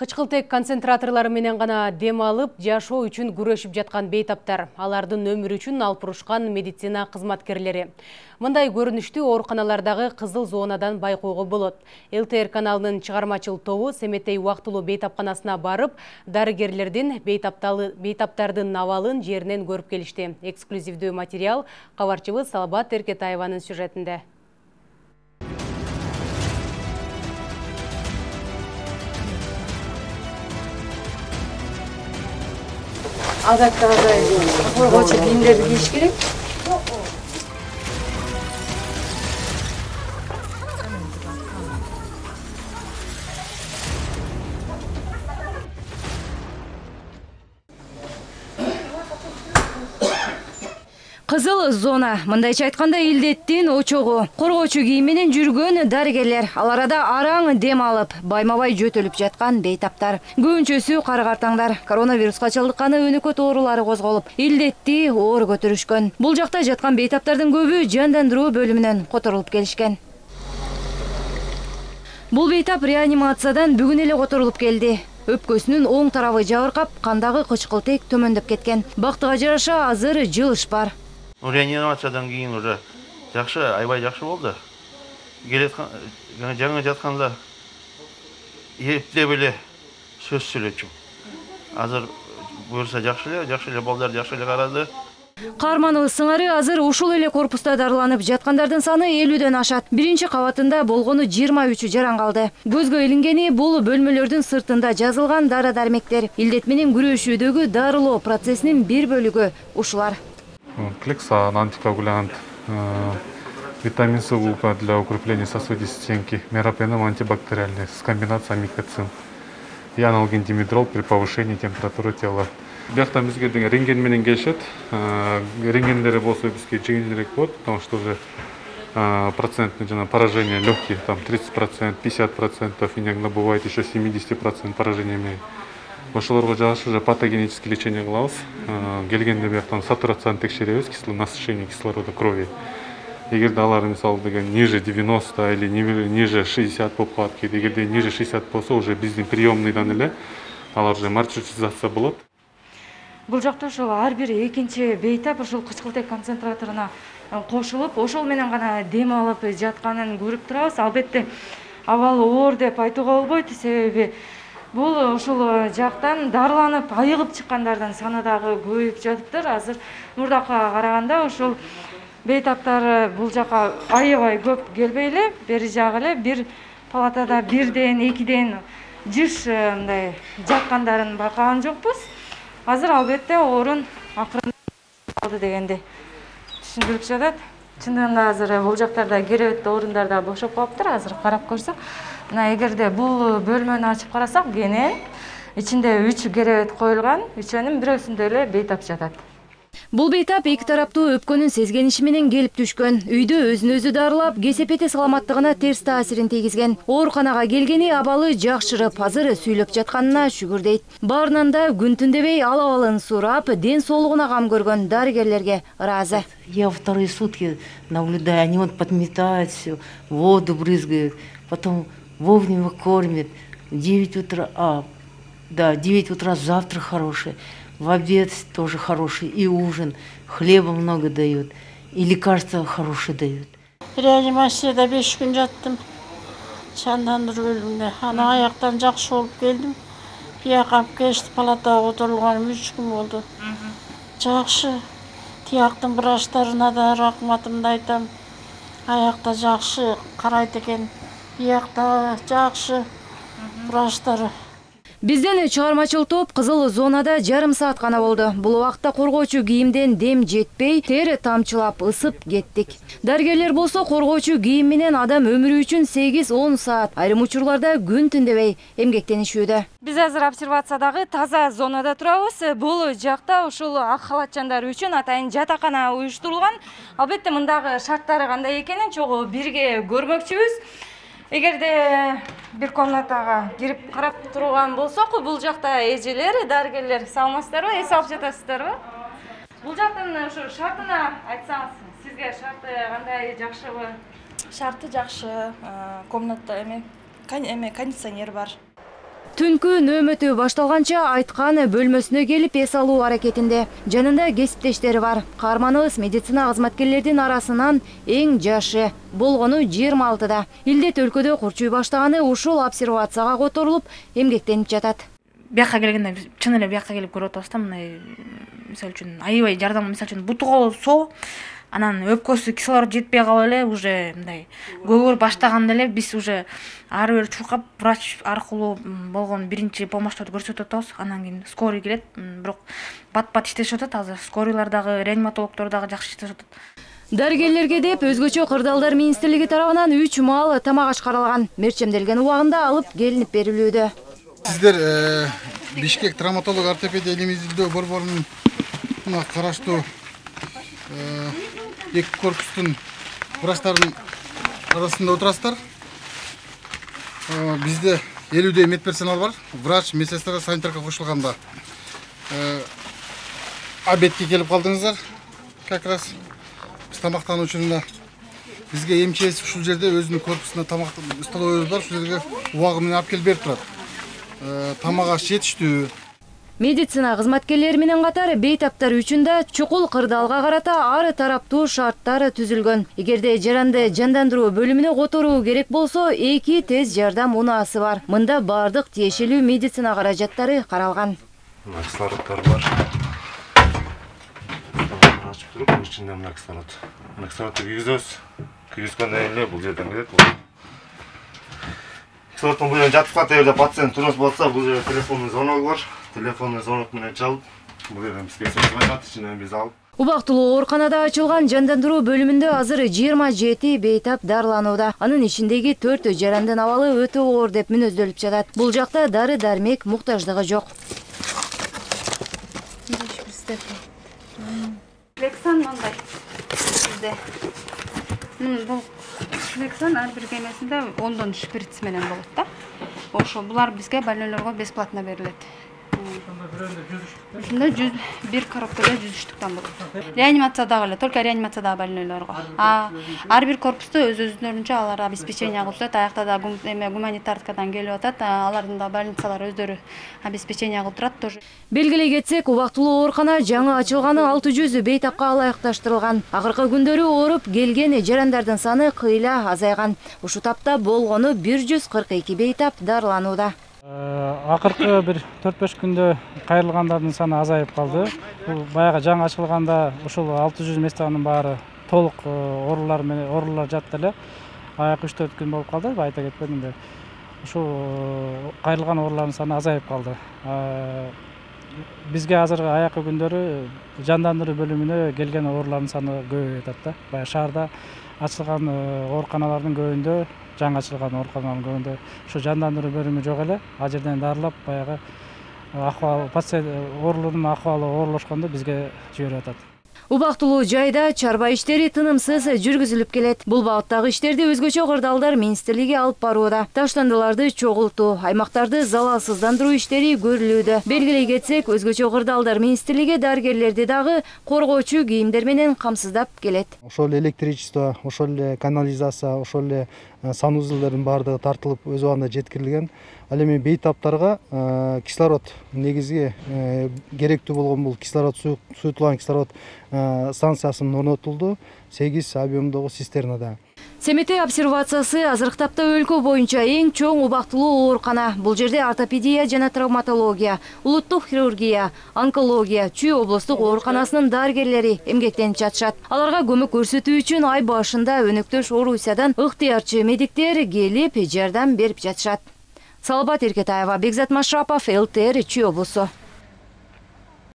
Кычкылтек концентраторлары менен гана дем алып, жашоо үчүн күрөшүп жаткан бейтаптар, алардын өмүрү үчүн алпурушкан медицина кызматкерлери. Мындай көрүнүштү ооруканалардагы кызыл зонадан байкоого болот. ЛТР каналынын чыгармачыл тобу Семетей убактылуу бейтапканасына барып, дарыгерлердин бейтаптардын абалын жеринен көрүп келишти. Эксклюзивдүү материал кабарчыбыз Салабат Эркетаеванын сюжетинде. Адатта коргоочу кийимдерди кийиш керек. Кызыл зона, мындайча айтканда илдеттин очогу. Коргоочу кийим менен жүргөн дарыгерлер, ал арада араң дем алып, байма-бай жөтөлүп жаткан бейтаптар. Көбүнчөсү кара-картаңдар, коронавируска чалдыкканы өнөкөт оорулары козголуп, илдетти оор көтөрүшкөн. Бул жакта жаткан бейтаптардын көбү жандандыруу бөлүмүнөн которулуп келишкен. Бул бейтап реанимациядан бүгүн эле которулуп келди. Өпкөсүнүн оң тарабы жабыркап, кандагы кычкылтек төмөндөп кеткен. Бактыга жараша азыр жылыш бар. Реанимациядан кийин уже жакшы, аябай жакшы болду. Жаңы жатканда эптеп эле сөз сүйлөчүм. Азыр буюрса жакшы эле балдар жакшы эле карады. Каарманыбыз сыңары азыр ушул эле корпуста дарыланып жаткандардын саны 50дөн ашат. Биринчи кабатында болгону 23 жаран калды. Көзгө илингени бул бөлмөлөрдүн сыртында жазылган дары-дармектер. Илдет менен күрөшүүдөгү дарылоо процессинин бир бөлүгү ушулар. Клексан, антикоагулянт, витамин С для укрепления сосудистой стенки, меропеном антибактериальный с комбинацией микоцин и аналген димедрол при повышении температуры тела. Бияктан бизге рентген менен келишет. Рентгендери болсо бизге жеңилирээк болот, потому что уже процентный поражение легких, там 30%, 50%, иногда бывает еще 70% поражения менен. Ошолорго жагыш уже патогенический лечение кылабыз. Келгенде бияктан сатурацияны текшеребиз, насыщение кислорода крови. Эгерде алар мисалы ниже 90 или ниже 60 болуп калат, эгерде ниже 60 болсо уже биздин приемныйдан эле алар уже маршрутизация болот. Бул жакта ошол ар бир экинчи бейтап ошол кычкылтек концентраторуна кошулуп, ошол менен гана дем алып жатканын көрүп турабыз. Албетте абалы оор деп айтууга болбойт, себеби бул ошол жактан дарыланып айыгып чыккандардын саны дагы көбөйүп жатыптыр. Азыр мурдакка караганда ошол бейтаптар бул жака аябай көп келбей эле, бери жагы эле бир палатада бирден, экиден жыш мындай жаткандарын байкаган жокпуз. Азыр албетте орун акырын алды дегенди түшүндүрүп жатат. Чындыгында азыр бул жактарда керебетте орундар да бошоп калыптыр. Азыр карап көрсөк, мына эгерде бул бөлмөнү ачып карасак, кенен ичинде 3 керебет коюлган, үчөөнүн бирөөсүндө эле бейтап жатат. Бул бейтап эки тараптуу өпкөнүн сезгениши менен келип түшкөн. Үйдө өзүн өзү дарылап, кесепети саламаттыгына терс таасирин тийгизген. Ооруканага келгени абалы жакшырып, азыр сүйлөп жатканына шүгүр дейт. Баарынан да күн түн дебей ал абалын сурап, ден соолугуна кам көргөн дарыгерлерге ыраазы. Я вторые сутки наблюдаю, они вот подметают все, воду брызгают, потом вовремя кормят. 9 утра завтрак хороший. В обед тоже хороший, и ужин, хлеба много дают, и лекарства хорошие дают. Реанимацияда 5 күн жаттым, жандандыруу бөлүмүндө. Ана аяктан жакшы болуп келдим. Бияка алып келишти, палатага отурулганым 3 күн болду. Жакшы, тияктын врачтарына да рахматымды айтам. Аякта жакшы карайт экен, биякта жакшы врачтар. Бизден чыгармачыл топ кызыл зонада жарым саат гана болду. Бул убакытта коргоочу кийимден дем жетпей, тер тамчылап ысып кеттик. Дарыгерлер болсо коргоочу кийим менен адам өмүрү үчүн 8-10 саат, айрым учурларда күн түн дебей эмгектенишүүдө. Биз азыр обсервациядагы таза зонада турабыз. Бул жакта ушул ак халатчандар үчүн атайын жатакана уюштурулган. Албетте мындагы шарттары кандай экенин чогуу бирге көрмөкчүбүз. Эгерде бир комнатага кирип карап турган болсок, бул жакта эжелер, дарыгерлер саламатсыздарбы, эс алып жатасыздарбы? Бул жактын ушу шартына айтсаңыз, сизге шарты кандай, жакшыбы? Шарты жакшы, комната кондиционер бар. Түнкү нөөмөтү башталганча айткан бөлмөсүнө келип эс алуу аракетинде. Жанында кесиптештери бар. Каарманыбыз медицина кызматкерлердин арасынан эң жашы, болгону 26-да. Илдет өлкөдө курчуй баштаганы ушул обсервацияга которулуп эмгектенип жатат. Бияка келгенде чын эле бияка келип көрүп атабыз да, мындай мисалы үчүн аябай жардам, мисалы үчүн бутуга соо, анан өпкөсү кислород жетпей калып эле уже мындай көгөрүп баштаганда эле биз уже ары бери чуркап врач аркылуу болгон биринчи помощьту көрсөтүп атабыз. Анан кийин скорый келет. Бирок бат-бат иштешип атат. Азыр скорийлар дагы, реаниматологдор дагы жакшы иштешип атат. Дарыгерлерге деп өзгөчө кырдаалдар министрлиги тарабынан 3 маал тамак аш каралган. Мерчемделген убагында алып келинип берилүүдө. Сиздер Бишкек травматолог ортопедия илимиздөө борборунун караштуу эки корпустун врачтарынын арасында отурасыздар. Бизде 50 медперсонал бар. Врач, медсестра, санитарка кошулганда. Обедке келип калдыңыздар. Как раз биз тамактануу учурунда бизге МЧС ушул жерде өзүнүн корпусунда тамак столовойбуз бар. Ушул жерге убагы менен алып келип берип турат. Тамак аш жетиштүү. Медицина кызматкерлери менен катар бейтаптар үчүн да чукул кырдаалга карата ар тараптуу шарттар түзүлгөн. Эгерде жаранды жандандыруу бөлүмүнө которуу керек болсо, 2 тез жардам унаасы бар. Мында бардык тиешелүү медицина каражаттары каралган. Кислороддор бар. Ачып туруп, ичинде мына кислород. Кислородду кийгизебиз. Кийгизгөндөн кийин бул жерден кетет. Кислороддун бул жерге жатып калат, эгерде пациент турмуш болсо, бул жерде телефондун звоногу бар. Телефонный звонок менен чалып, бул жерден бизге связь кылышат, ичинен биз алып. Убактылуу ооруканада ачылган жандандыруу бөлүмүндө азыр 27 бейтап дарыланууда. Анын ичиндеги 4 жарандын абалы өтө оор деп мүнөздөлүп жатат. Бул жакта дары-дармек муктаждыгы жок. Флексан мындай бизде. Бул флексан ар бир кемесинде 10 шприц менен болот да. Ошо булар бизге больнойлорго бесплатно берилет. Ушунда 1 коробкада 100 штуктан болот. Реанимациядагы эле, только реанимациядагы больнойлорго. Ар бир корпуста өз-өзүнөрүнчө алар обеспечение кылып турат. Аякта да гуманитаркадан келип атат. Алардын да больницалар өздөрү обеспечение кылып турат тоже. Белгилей кетсек, убактылуу оорукана жаңы ачылганы 600 бейтапка ылайыкташтырылган. Акыркы күндөрү ооруп келген жарандардын саны кыйла азайган. Ушу тапта болгону 142 бейтап дарыланууда. Акыркы бир 4-5 күндө кайрылгандардын саны азайып калды. Бул баягы жаңы ачылганда ушул 600 местанын баары толук оорулар жатты эле. Аяк 3-4 күн болуп калды, айта кетпедим бе. Ушул кайрылган оорулардын саны азайып калды. Бизге азыркы аякы күндөрү жандандыруу бөлүмүнө келген оорулардын саны көбөйүп атат да. Баягы шаарда ачылган ооруканалардын көбүндө, жаңы ачылган ооруканалардын көбүндө ушу жандандыруу бөлүмү жок эле. Ал жерден дарылап баягы акыбал пациент оорулуунун акыбалы оорлошкондо бизге жиберип атат. Убактылуу жайда чарба иштери тынымсыз жүргүзүлүп келет. Бул багыттагы иштерди өзгөчө кырдаалдар министрлиги алып барууда. Таштандыларды чогултуу, аймактарды залалсыздандыруу иштери көрүлүүдө. Белгилей кетсек, өзгөчө кырдаалдар министрлиги дарыгерлерди дагы коргоочу кийимдер менен камсыздап келет. Ошол эле электричество, ошол эле канализация, ошол эле санузелдердин баардыгы тартылып өз убагында жеткирилген. Ал эми бейтаптарга кислород негизги керектүү болгон бул кислород суютулган кислород станциясынын орнотулду 8 объемдогу цистернада. Семете обсервациясы азыркы тапта өлкө боюнча эң чоң убактылуу оорукана. Бул жерде ортопедия жана травматология, улуттук хирургия, онкология, Чүй облустук ооруканасынын дарыгерлери эмгектенип жатышат. Аларга көмөк көрсөтүү үчүн ай башында өнөктөш Орусиядан ыктыярчы медиктер келип жардам берип жатышат. Салбат Эркетаева, Бекзат Машрапов, ЛТР, Чүй облусу.